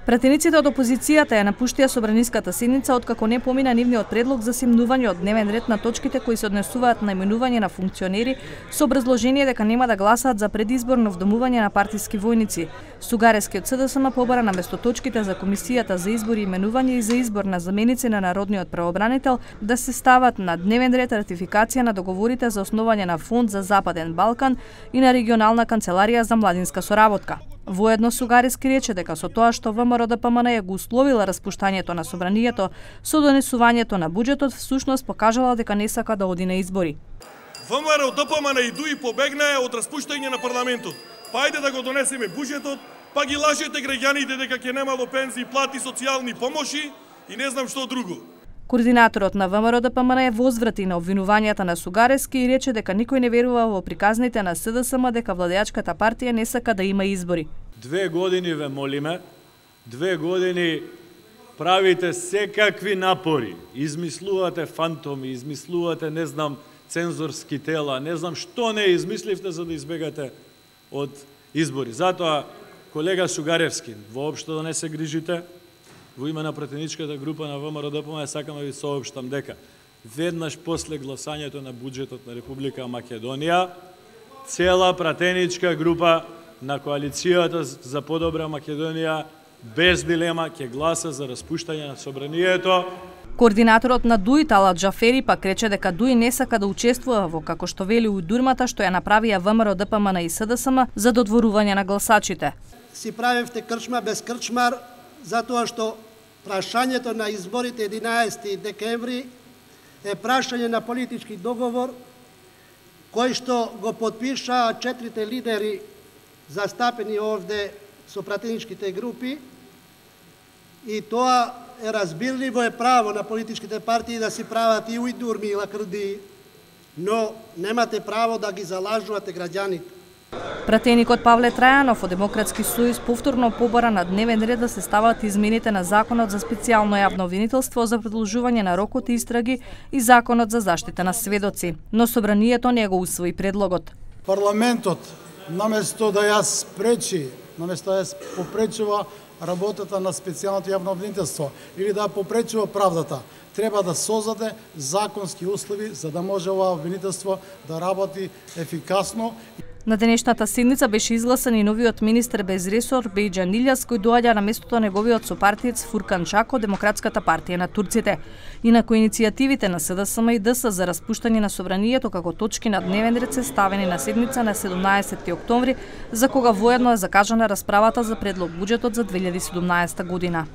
Пратениците од опозицијата ја напуштија собраниската седница откако не помина нивниот предлог за симнување од дневен ред на точките кои се однесуваат на именување на функционери со образложение дека нема да гласаат за предизборно вдомување на партиски војници. Сугарески од СДСМ побара наместо точките за комисијата за избори и именување и за избор на заменици на народниот правобранител да се стават на дневен ред ратификација на договорите за основање на фонд за Западен Балкан и на регионална канцеларија за младинска соработка. Воедно Сугарески рече дека со тоа што ВМРО-ДПМН ја го условила распуштањето на собранието со донесувањето на буџетот, всушност покажала дека не сака да оди на избори. ВМРО-ДПМН и ДУИ побегнаа од распуштање на парламентот. Па ајде да го донесеме буџетот, па ги лажете граѓаните дека ќе немало пензии, плати, социјални помоши и не знам што друго. Координаторот на ВМРО-ДПМН ја возврати на обвинувањата на Сугарески и рече дека никој не верува во приказните на СДСМ дека владеачката партија не сака да има избори. 2 години ве молиме, 2 години правите секакви напори, измислувате фантоми, измислувате, не знам, цензорски тела, не знам што не измисливте за да избегате од избори. Затоа, колега Сугаревски, воопшто да не се грижите, во име на пратеничката група на ВМРО-ДПМН сакам да ви соопштам дека веднаш после гласањето на буџетот на Република Македонија, цела пратеничка група на коалицијата за подобра Македонија без дилема ќе гласа за распуштање на собранието. Координаторот на ДУИ Талат Джафери пак рече дека ДУИ не сака да учествува во, како што вели, ујдурмата што ја направија ВМРО-ДПМН и СДСМ за додворување на гласачите. Си правевте крчма без крчмар, затоа што прашањето на изборите 11 декември е прашање на политички договор кој што го потпишаа 4 лидери застапени овде со пратеничките групи и тоа е разбирливо, е право на политичките партии да си прават и ујдурми и лакрди, но немате право да ги залажувате граѓаните. Пратеникот Павле Трајанов од Демократски сојуз повторно побара на дневен ред да се стават измените на Законот за специјално јавно обвинителство за продолжување на рокот истраги и Законот за заштита на сведоци, но собранието не го усвои предлогот. Парламентот наместо да ја спречи, наместо да ја попречува работата на специјалното јавно обвинителство или да попречува правдата, треба да создаде законски услови за да може ова обвинителство да работи ефикасно. На денешната седница беше изгласан и новиот министер без ресор Бејџан Илјас, кој доаѓа на местото неговиот сопартиец Фуркан Чако, Демократската партија на турците. Инаку иницијативите на СДСМ и ДС за распуштање на собранието како точки на дневен ред се ставени на седница на 17 октомври, за кога воедно е закажана расправата за предлог буџетот за 2017 година.